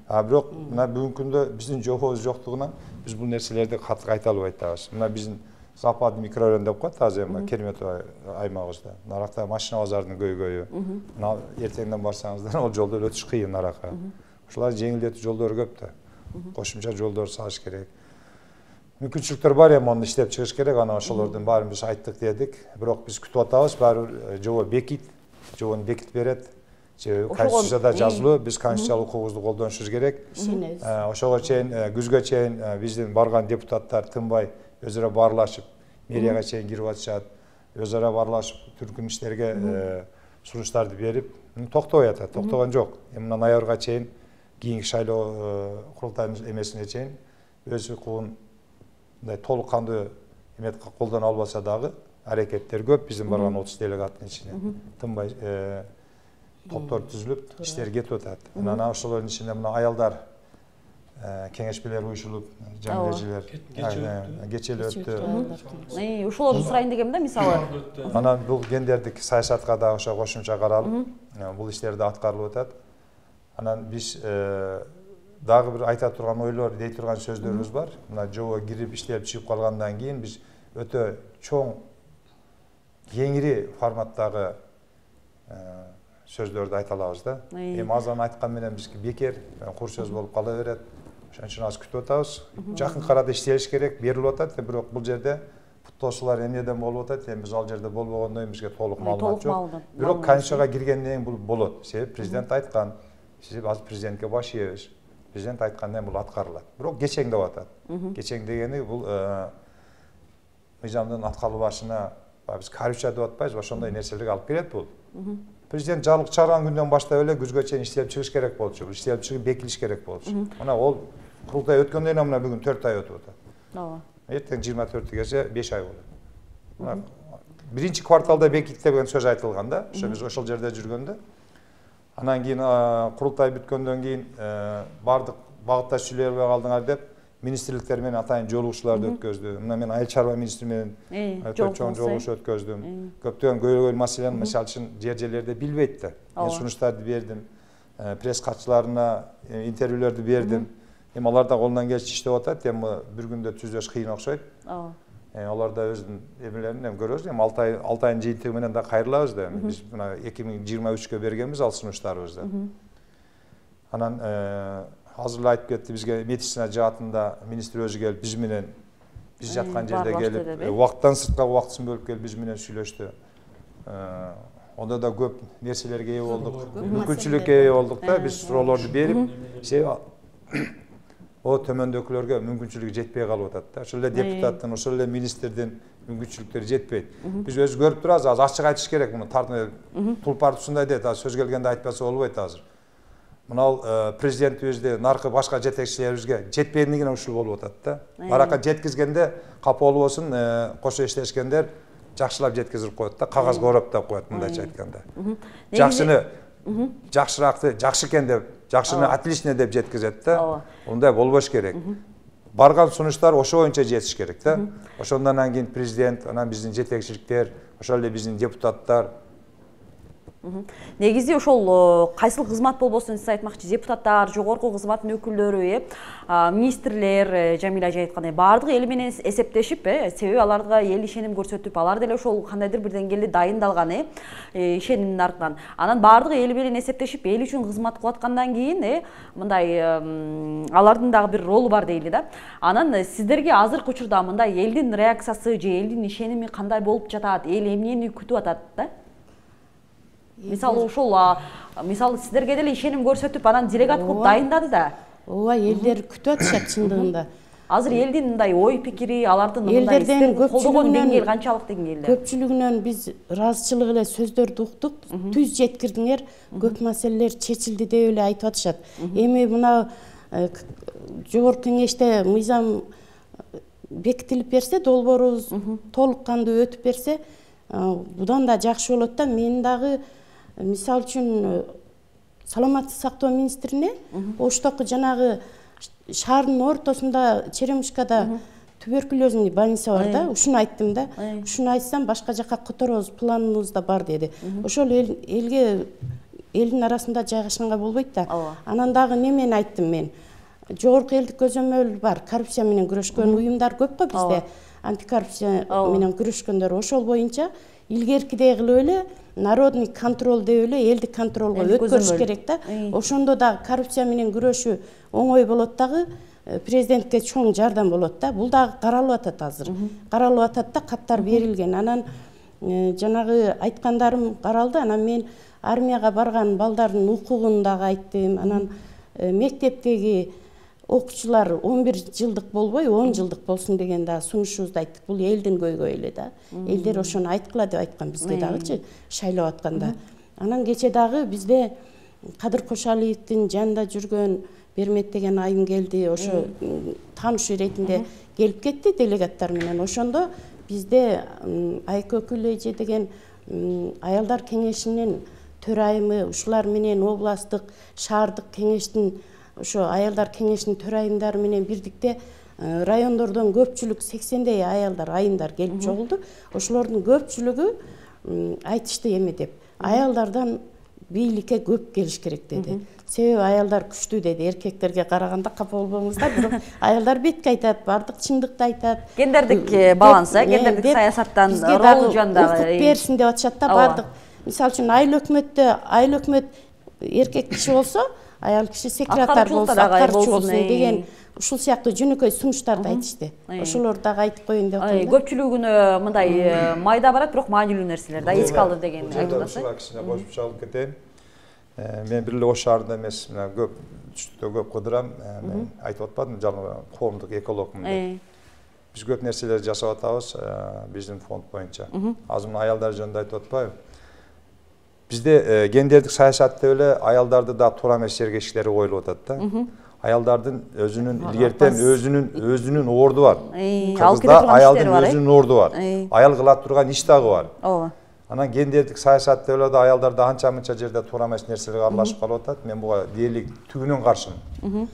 Бирок мына бүгүнкү күндө биздин жобобуз жоктугунан биз бул нерселерди кайталап айтабыз. Мына биздин Запад микрорайон деп коет азыр эми Керметов аймагыбызда. Наракта машина базарынын көйгөйү. Мына эртеңден барсаңыздар, ал жолдор өтүш кыйын нарака. Ошолар жеңилдетүү жолдор көп да. Кошумча жолдор салыш керек. Мүмкүнчүлүктөр бар эми, аны иштеп чыгыш керек. Анан ошолордун баарын биз айттык дедик. Бирок биз күтүп атабыз, баары жобо жобону бекитип берет. Конституцияда жазылуу, биз конституциялык укугубузду колдонушубуз керек. Ошого чейин күзгө чейин биздин барган депутаттар тынбай өз ара баарлашып, мэрияга чейин кирип атышат. Өз ара баарлашып, түркүн иштерге сунуштарды берип, токтобой атат, токтогон жок. Эми ноябрга чейин, кийинки шайлоо курултайдын эмесине чейин өз укугун мындай толук кандуу эме колдоно албаса дагы аракеттер көп биздин барган 30 делегаттын ичинде. Тынбай топтор түзүлүп, иштер кетип атат. Анан ошолордун ичинде мына аялдар кеңешмелер уюшулуп, жаңы кечели өттү. Ошолорду сурайын дегем да, мисалы. Анан бул гендердик саясатка да ошо кошумча каралып, бул иштерди аткарылып атат. Анан биз дагы бир айта турган ойлор, дей турган сөздөрүбүз бар. Мына жобо кирип иштелип чыгып калгандан кийин биз өтө чоң, кеңири форматтагы сөздөрдү айта алабыз да. Эми азан айткан менен бизге бекер, кур сөз болуп кала берет. Ошон үчүн азыр күтүп атабыз. Жакын арада иштелиш керек, берилип атат, бирок бул жерде путтоосулар эмнеден болуп атат, эми биз ал жерде болбогондон бизге толук маалымат жок. Бирок конституцияга киргенден кийин бул болот. Себеп президент айткан. Себеп азыр президентке баш ийебиз. Президент айткандан бул аткарылат. Бирок кечең деп атат. Кечең дегени бул мыйзамдын аткарылбашына биз коррупция деп атпайбыз, ошондой нерселерге алып келет бул. Президент жарлык чыгарган күндөн баштап эле күзгө чейин иштелип чыгыш керек болчу. Бул иштелип чыгып бекилиш керек болчу. Мына ол курултай өткөндөн кийин мына бүгүн 4 ай өтүп атат. Ооба. Эртең 24-кече 5 ай болот. Биринчи кварталда бекит деген сөз айтылган да. Ошо биз ошол жерде жүргөндө. Анан кийин курултай бүткөндөн кийин бардык багытташууларга калдыңар деп министрликтер менен атайын жолугушууларды өткөздү. Мына мен айыл чарба министри менен өтө чоң жолугушуу өткөздүм. Көптөгөн көйгөйлүү маселени мисалы үчүн жерлерде билбейт да. Мен сунуштарды бердим. Пресс катчыларына интервьюлөрдү бердим. Эми алар да колунан келишинче иштеп атат. Эми бир күндө түзөш кыйын окшойт. Алар да өзүнүн эмелерин эми көрөбүз. Эми 6 айдын жыйынтыгы менен да кайрылабыз да. Биз мына 2023-кө бергенбиз ал сунуштарыбызды. Анан азыр эле айтып кетти, бизге медицина жаатында министр өзү келип биз менен биз жаткан жерде келип убакыттан сырткы убактысын бөлүп келип биз менен сүйлөштү. Онда да көп нерселерге ээ болдук, мүмкүнчүлүккө ээ болдук да, биз суроолорду берип, о төмөндөгүлөргө мүмкүнчүлүгү жетпей калып атат да. Ошол эле депутаттын, ошол эле министрдин мүмкүнчүлүктөрү жетпейт. Биз өзү көрүп турабыз, азыр ачык айтыш керек муну. Тулпар ушундай дейт, сөз келгенде айтпаса болбойт азыр. Мына президентибизди наркы башка жетекчилерибизге жетпегендигинен ушул болуп атат да. Баракка жеткизгенде капа болбосун, кошо иштешкендер жакшылап жеткизип коет да, кагазга ороптоп коет мындайча айтканда. Жакшыны жакшыраакты жакшы экен деп, жакшыны отлично деп жеткизет да. Ондай болбош керек. Барган сунуштар ошо боюнча жетиш керек да. Ошондон кийин президент, анан биздин жетекчиликтер, ошол эле биздин депутаттар. Негизи ошол кайсыл кызмат болбосун сиз айтмакчы, депутаттар, жогорку кызматтын өкүлдөрү, министрлер, Жамиля ажа айткандай баардыгы эл менен эсептешип, себеби аларга эл ишеним көрсөтүп, алар деле ошол кандайдыр бир деңгээлде дайындалган, ишенимдин артынан. Анан баардыгы эл менен эсептешип, эл үчүн кызмат кылып аткандан кийин, мындай алардын дагы бир ролу бар дейли да. Анан сиздерге азыркы учурда мындай элдин реакциясы же элдин ишеними кандай болуп жатат, эл эмнени күтүп атат да? Мисалы ошол, мисалы сиздерге деле ишеним көрсөтүп, анан делегат кылып дайындады да. Ооба, элдер күтүп атышат чындыгында. Азыр элдин мындай ой пикири, алардын мындай истерин колдогон деңгээл канчалык деңгээлде? Көпчүлүгүнөн биз ыраазычылык эле сөздөрдү уктук, түз жеткирдиңер, көп маселелер чечилди деп эле айтып атышат. Эми мына жогорку кеңеште мыйзам бекитилип берсе, долбоорубуз толук кандуу өтүп берсе, будан да жакшы болот да. Мен дагы мисалы үчүн саламаттык сактоо министрине Оштогу жанагы шаардын ортосунда Черемушкада туберкулезный больница бар да, ушуну айттым да. Ушуну айтсам башка жака которобуз, планыбызда бар деди. Ошол элге элдин арасында жайгашканга болбойт да. Анан дагы немени айттым мен? Жогорку элдик көзөмөл бар, коррупция менен күрөшкөн уюмдар көп го бизде. Антикоррупция менен күрөшкөндөр, ошол боюнча илгеркидей кылып эле народный контроль деп эле элдик контролго өткөрүш керек да. Ошондо дагы коррупция менен күрөшүү оңой болот дагы, президентке чоң жардам болот да. Бул дагы каралып атат азыр. Каралып атат да, каттар берилген. Анан жанагы айткандарым каралды. Анан мен армияга барган балдардын укугун дагы айттым. Анан мектептеги окуучулар 11 жылдык болбой 10 жылдык болсун деген да сунушубузду айттык. Бул элдин көйгөйү эле да. Элдер ошону айткыла деп айткан бизге дагычы шайлап атканда. Анан кече дагы бизде Кадыр Кошалиевдин жанында жүргөн Бермет деген айым келди. Ошо таанышуу иретинде келип кетти делегаттар менен. Ошондо бизде Айкөкүл эже деген аялдар кеңешинин төрайымы, ушулар менен областтык, шаардык кеңештин ошо аялдар кеңешинин төрайымдары менен бирдикте райондордон көпчүлүк 80дей аялдар, айымдар келип чогулду. Ошолордун көпчүлүгү айтышты эме деп. Аялдардан бийликке көп келиш керек деди. Себеби аялдар күчтүү деди. Эркектерге караганда капа болбоңуздар, бирок аялдар бетке айтат, бардык чындыкты айтат. Гендердик баланс, гендердик саясаттан ролу жөнүндө берсин деп атышат да бардык. Мисалы үчүн айыл өкмөт эркек киши болсо, аял киши секретарь болсо, аткарчу болсун деген ушул сыяктуу жөнөкөй сунуштарды айтышты. Ошолорду дагы айтып коеюн деп атам. Көпчүлүгүнө мындай майда барат, бирок маанилүү нерселер да эске алды деген айтып атасыз. Ушуга кичине кошуп чалып кетейин. Мен бир эле Ош шаарында эмес, мына көп түштүктө көп кыдырам. Мен айтып атпадым, жалпы коомдук экологмун деп. Биз көп нерселерди жасап атабыз биздин фонд боюнча. Азыр мына аялдар жөнүндө айтып атпайбы? Бизде гендердик саясат деп эле аялдарды да туура эмес жерге иштери коюлуп атат да. Аялдардын өзүнүн илгертен өзүнүн орду бар. Кыргызда аялдын өзүнүн орду бар. Аял кыла турган иш дагы бар. Ооба. Анан гендердик саясат деп эле да аялдар анча-мынча жерде туура эмес нерселерге аралашып калып атат. Мен буга дээрлик түгүнөн каршымын.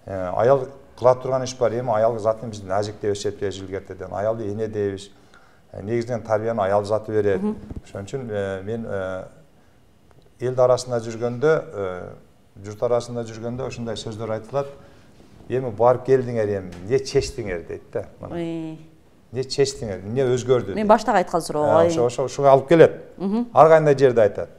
Аял кыла турган иш бар. Эми аял затын биз назик деп эсептейбиз илгертеден. Аялды эне дейбиз. Негизинен тарбияны аял заты берет. Ошон үчүн мен эл арасында жүргөндө, журт арасында жүргөндө ошондой сөздөр айтылат. Эми барып келдиңер, эми эмне чечтиңер дейт да. Эмне чечтиңер, эмне өзгөрдү? Мен баштагы айткан суроо. Ошого алып келет. Ар кандай жерде айтат.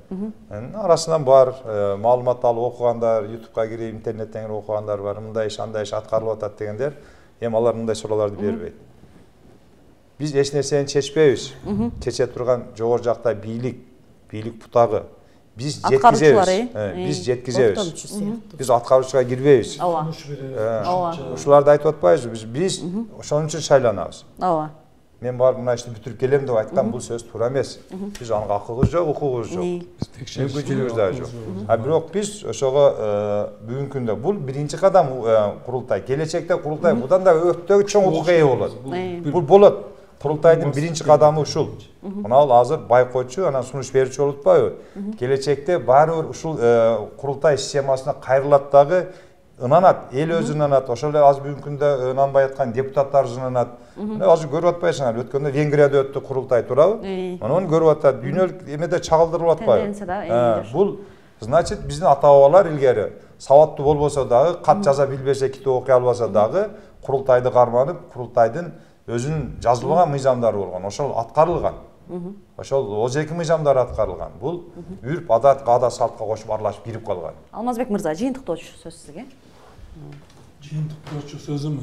Арасынан бар маалымат алып окугандар, YouTubeга кирип, интернеттен кирип окугандар бар. Мындай иш, андай иш аткарылып атат дегендер, эми алар мындай суроолорду бербейт. Биз эч нерсени чечпейбиз. Чече турган жогору жакта бийлик бутагы. Биз жеткизебиз. Биз аткаруучуга кирбейбиз. Ушуларды айтып атпайбызбы? Биз ошон үчүн шайланабыз. Ооба. Мен барып мына ишти бүтүрүп келем деп айткан бул сөз туура эмес. Биз анга акыбыз жок, укугубуз жок. Мүмкүнчүлүгүбүз да жок. Бирок биз ошого бүгүнкү күндө бул биринчи кадам курултай. Келечекте курултай будан да өтө чоң укуга ээ болот. Бул болот. Курултайдын биринчи кадамы ушул. Мына азыр байкоочу, анан сунуш берүүчү болуп атпайбы? Келечекте баары бир ушул курултай системасына кайрылат дагы ынанат, эл өзү ынанат, ошол эле азыр бүгүнкү күндө ынанбай аткан депутаттар ынанат. Азыр көрүп атпайсыңар, өткөндө Венгрияда өттү курултай, туурабы? Муну көрүп атат, дүйнөлүк эмеде чагылдырылып атпайбы? Бул значит биздин ата-бабалар илгери сабаттуу болбосо дагы, кат жаза билбесе, китеп окуй албаса дагы курултайды карманып, курултайдын өзүнүн жазылган мыйзамдары болгон, ошол аткарылган. Ошол 32 мыйзамдар аткарылган. Бул үрп, адат, каада, салтка кошуп аралашып кирип калган. Алмазбек мырза, жыйынтыктоочу сөз сизге. Жыйынтыктоочу сөзүм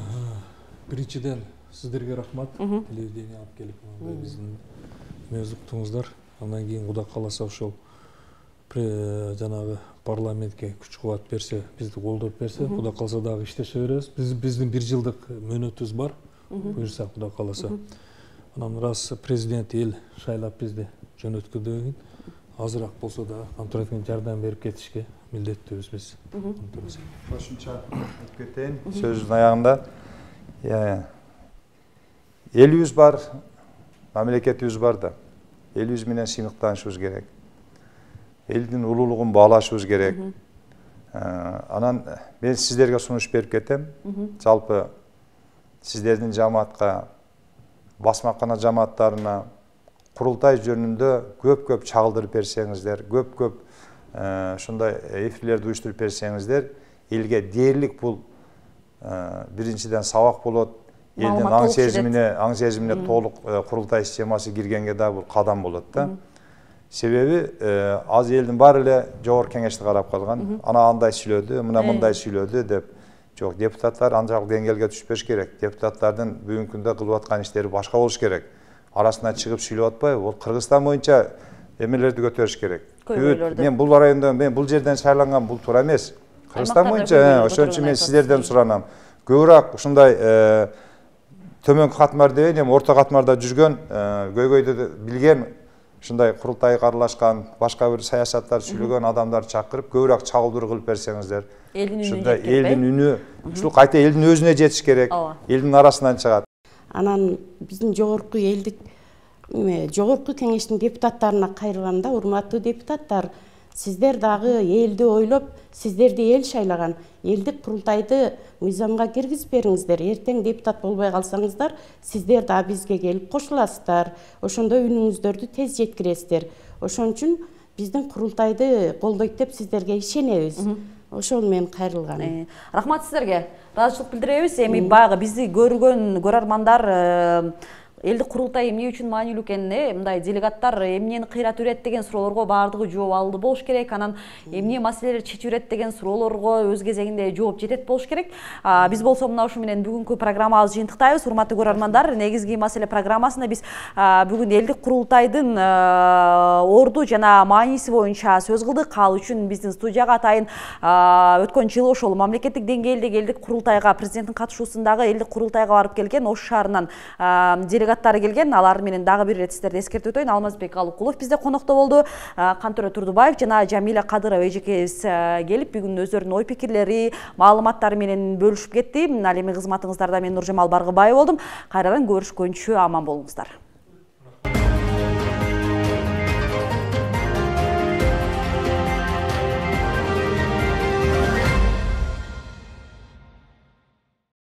биринчиден сиздерге рахмат. Телевидение алып келип биздин өз уктуңуздар. Андан кийин Кудай кааласа ошол жанагы парламентке күч кубат берсе, бизди колдоп берсе, Кудай калса дагы иштеше беребиз. Биздин 1 жылдык мөөнөтүбүз бар. Буюрса Кудай каласа. Анан раз президент эл шайлап бизди жөнөткөндөн кийин азыраак болсо да контрактын жардам берип кетишке милдеттүүбүз биз. Кошумча айтып кетейин сөздүн аягында. Элибиз бар, мамлекетибиз бар да. Элибиз менен сыймыктанышыбыз керек. Элдин улуулугун баалашыбыз керек. Анан мен сиздерге сунуш берип кетем. Жалпы сиздердин жамаатка, басмакана жамааттарына курултай жөнүндө көп чагылдырып берсеңиздер, көп ушундай эфирлерди уюштуруп берсеңиздер, элге дээрлик бул биринчиден сабак болот. Элдин аң сезимине толук курултай системасы киргенге да бул кадам болот да. Себеби аз элдин баары эле жогорку кеңешти карап калган. Ана андай сүйлөдү, мына мындай сүйлөдү деп. Жок, депутаттар анчалык деңгээлге түшпөш керек. Депутаттардын бүгүнкү күндө кылып аткан иштери башка болуш керек. Арасына чыгып сүйлөп атпайбы? Бул Кыргызстан боюнча эмелерди көтөрүш керек. Мен бул райондон, мен бул жерден шайланган, бул туура эмес. Кыргызстан боюнча ошон үчүн мен сиздерден суранам. Көбүрөөк ушундай төмөнкү катмарда эми орто катмарда жүргөн, көйгөйдү билген, ушундай курултайга аралашкан, башка бир саясаттар сүйлөгөн адамдарды чакырып, көбүрөөк чагылдыруу кылып берсеңиздер. Элдин үнү, ушул кайта элдин өзүнө жетиш керек. Элдин арасынан чыгат. Анан биздин жогорку элдик жогорку кеңештин депутаттарына кайрылганда, урматтуу депутаттар, сиздер дагы элди ойлоп, сиздерди эл шайлаган. Элдик курултайды мыйзамга киргизип бериңиздер. Эртең депутат болбой калсаңыздар, сиздер да бизге келип кошуласыздар. Ошондо үнүңүздөрдү тез жеткиресиздер. Ошон үчүн биздин курултайды колдойт деп сиздерге ишенебиз. Ошол менен кайрылган. Рахмат сиздерге. Ыраазычылык билдиребиз. Эми баягы бизди көргөн көрөрмандар элдик курултай эмне үчүн маанилүү экенин, мындай делегаттар эмнени кыйрат үрет деген суроолорго баардыгы жооп алды болуш керек. Анан эмне маселелер чечип үрет деген суроолорго өз кезегинде жооп жетет болуш керек. Биз болсо мына ушу менен бүгүнкү программабызды жыйынтыктайбыз. Урматтуу көрөрмандар, негизги маселе программасында биз бүгүн элдик курултайдын орду жана мааниси боюнча сөз кылдык. Ал үчүн биздин студияга атайын өткөн жылы ошол мамлекеттик деңгээлдеги элдик курултайга, президенттин катышуусундагы элдик курултайга барып келген Ош шаарынан делегаттары келген. Алар менен дагы бир ирет сиздерди эскертип өтөйүн. Алмазбек Алыкулов бизде конокто болду. Кантөре Турдубаев жана Жамиля Кадырова эжекебиз келип бүгүн өздөрүнүн ой пикирлери, маалыматтары менен бөлүшүп кетти. Ал эми кызматыңыздарда мен Нуржамал Баргыбай болдум. Кайрадан көрүшкөнчө аман болуңуздар.